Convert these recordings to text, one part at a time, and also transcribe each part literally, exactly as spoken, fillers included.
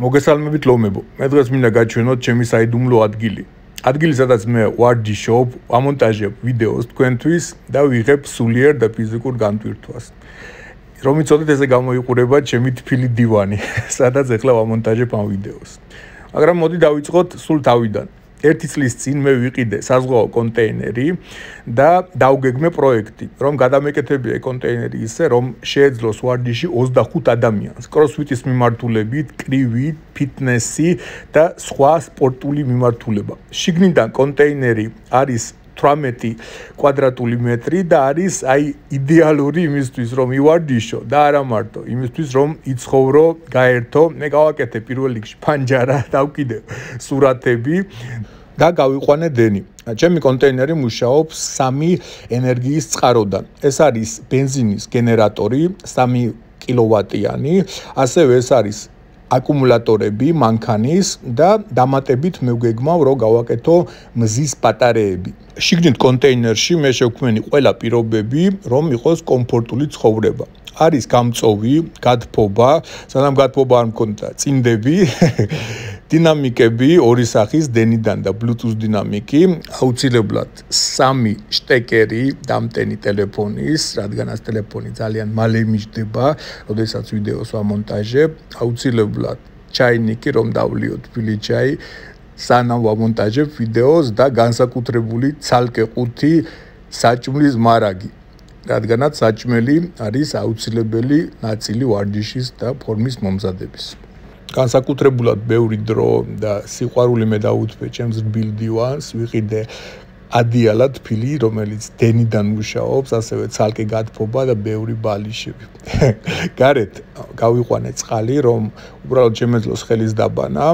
მოგესალმებით ლომებო. მე დღეს მინდა გაჩვენოთ ჩემი საიდუმლო ადგილი. ადგილი, სადაც მე ვარჯიშობ, ვამონტაჟებ ვიდეოს თქვენთვის და ვიღებ სულიერ და ფიზიკურ განტვირთვას. რომ იცოდეთ, ესე გამოიყურება ჩემი თბილი დივანი, სადაც ახლა ვამონტაჟებ ამ ვიდეოს. მაგრამ მოდი დავიწყოთ სულ თავიდან. ერთი წლის წინ მე ვიყიდე საზღვაო კონტეინერი და დავგეგმე პროექტი, რომ გადამეკეთებია კონტეინერი ისე, რომ შეეძლოს ვარჯიში ოცდახუთ ადამიანს. კროსფიტის მიმართულებით, კრივით, ფიტნესი და სხვა სპორტული მიმართულება. შიგნიდან კონტეინერი არის თვრამეტი კვადრატული მეტრი და არის აი იდეალური იმისთვის, რომ ივარჯიშო და არა მარტო იმისთვის, რომ იცხოვრო, გაერთო. მე გავაკეთე პირველ რიგში ფანჯარა, დავკიდე სურათები და გავიყვანე დენი. ჩემი კონტეინერი მუშაობს სამი ენერგიის წყაროდან. ეს არის ბენზინის გენერატორი, სამი კილოვატიანი, ასევე ეს არის აკუმულატორები მანქანის და დამატებით მე ვგეგმავ, რომ გავაკეთო მზის ბატარეები. შიგნით კონტეინერში მე შევქმნი ყველა პირობები, რომ იყოს კომფორტული ცხოვრება. არის გამწოვი, გადფობა, სანამ გადფობა არ მქონდა, წინდები, დინამიკები, ორი სახის დენიდან და Bluetooth დინამიკი, აუცილებლად სამი შტეკერი დამტენი ტელეფონის, რადგანაც ტელეფონი ძალიან მალე მიჯდება, როდესაც ვიდეოს ვამონტაჟებ, აუცილებლად ჩაინიკი, რომ დავლიო თბილი ჩაი, სანამ ვამონტაჟებ ვიდეოს და განსაკუთრებული ცალკე ყუთი საჭმლის მარაგი. რადგანაც საჭმელი არის აუცილებელი ნაწილი ვარჯიშის და ფორმის მომზადების. განსაკუთრებულად ბევრი დრო და სიყვარული მე დავუთმე ჩემს რბილ დივანს, ვიყიდე ადიალა თბილი, რომელიც დენიდან მუშაობს, ასევე ცალკე გადფობა და ბევრი ბალიშები. გარეთ გავიყვანე წყალი, რომ უბრალოდ შემეძლოს ხელის დაბანა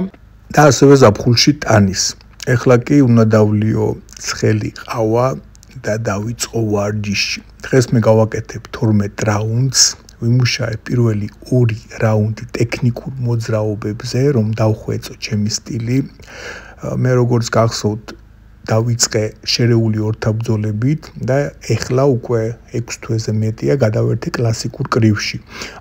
და ასევე ზაფხულში ტანის. ეხლა კი უნდა დავლიო ცხელი ყავა და დავიწყო ვარჯიში. დღეს მე გავაკეთებ თორმეტ რაუნდს, ვიმუშაებ პირველი ორი რაუნდი ტექნიკურ მოძრაობებზე, რომ დავხვეწო ჩემი სტილი. მე როგორც გახსოვთ, დავიწყე შერეული ორთაბრძოლებით და ეხლა უკვე ექვს თვეზე მეტია გადავერთე კლასიკურ კრივში.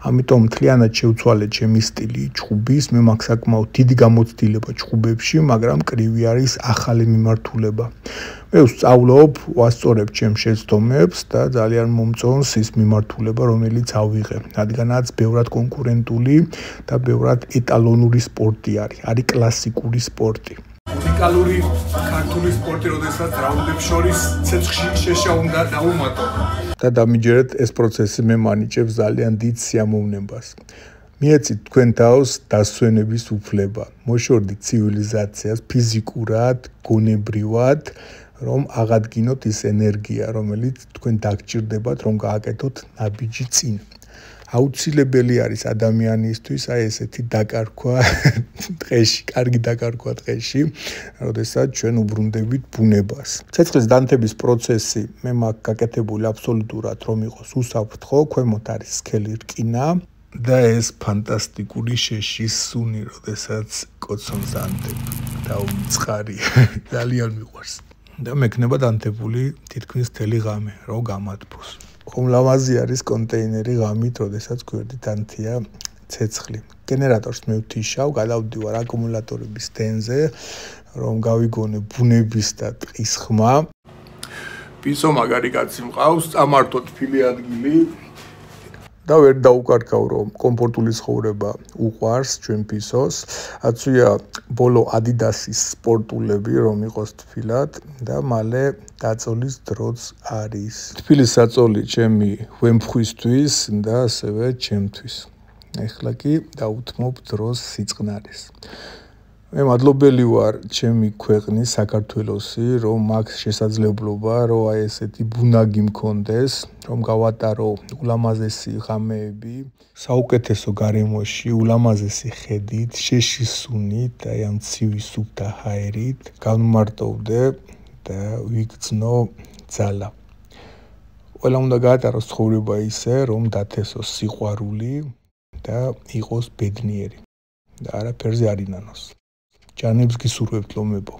ამიტომ მთლიანად შევცვალე ჩემი სტილი ჩხუბის, მე მაქვს საკმაოდ დიდი გამოცდილება ჩხუბებში, მაგრამ კრივი არის ახალი მიმართულება. მე ვსწავლობ, ვასწორებ ჩემს შეცდომებს და ძალიან მომწონს ის მიმართულება, რომელიც ავიღე, რადგანაც ბევრად კონკურენტული და ბევრად ეტალონური სპორტი არის, არის კლასიკური სპორტი. უნიკალური ქართული სპორტი, როდესაც რაუნდებს შორის ცეცხლში შეშა უნდა დაუმატო. და დამიჯერეთ, ეს პროცესი მე მანიჭებს ძალიან დიდ სიამოვნებას. მიეცით თქვენ თავს დასვენების უფლება, მოშორდით ცივილიზაციას ფიზიკურად, გონებრივად, რომ აღადგინოთ ის ენერგია, რომელიც თქვენ დაგჭირდებათ, რომ გააკეთოთ ნაბიჯი წინ. აუცილებელი არის ადამიანისთვის აი ესეთი დაკარგვა დღეში, კარგი დაკარგვა დღეში, როდესაც ჩვენ უბრუნდებით ბუნებას. ცეცხლის დანთების პროცესი მე მაქვს გაკეთებული აბსოლუტურად, რომ იყოს უსაფრთხო, ქვემოთ არის სქელი რკინა და ეს ფანტასტიკური შეშის სუნი, როდესაც კოცონს ანთებ და უწყარი ძალიან მიყვარს. და მექნება დანთებული თითქმის მთელი ღამე, რომ გამათბოს. ხომლამაზი არის კონტეინერი ღამით, როდესაც გვერდით ანთია ცეცხლი. გენერატორს მე ვთიშავ, გადავდივარ აკუმულატორების დენზე, რომ გავიგონე ბუნების და ტყის ხმა. პისო მაგარი კაცი მყავს, წამართო თბილი ადგილი. და ვერ დაუკარგავ, რომ კომფორტული ცხოვრება უყვარს ჩვენ ფისოს. აცვია ბოლო ადიდასის სპორტულები, რომ იყოს თბილად და მალე დაწოლის დროც არის. თბილის საწოლი ჩემი ვემფხვისთვის და ასევე ჩემთვის. ეხლა კი დავუთმობ დროს სიწყნარეს. მე მადლობელი ვარ ჩემი ქვეყნის საქართველოსი, რომ მაქვს შესაძლებლობა, რომ აი ესეთი ბუნაგი მქონდეს, რომ გავატარო ულამაზესი ღამეები, საუკეთესო გარემოში, ულამაზესი ხედით, შეშის სუნით, აი ამ ცივი სუფთა ჰაერით, გავმარტოვდე და ვიგრძნო ძალა. ყველა უნდა გაატაროს ცხოვრება ისე, რომ დათესოს სიყვარული და იყოს ბედნიერი და არაფერზე არ ინანოს. ჯანებს გისურვებთ ლომებო.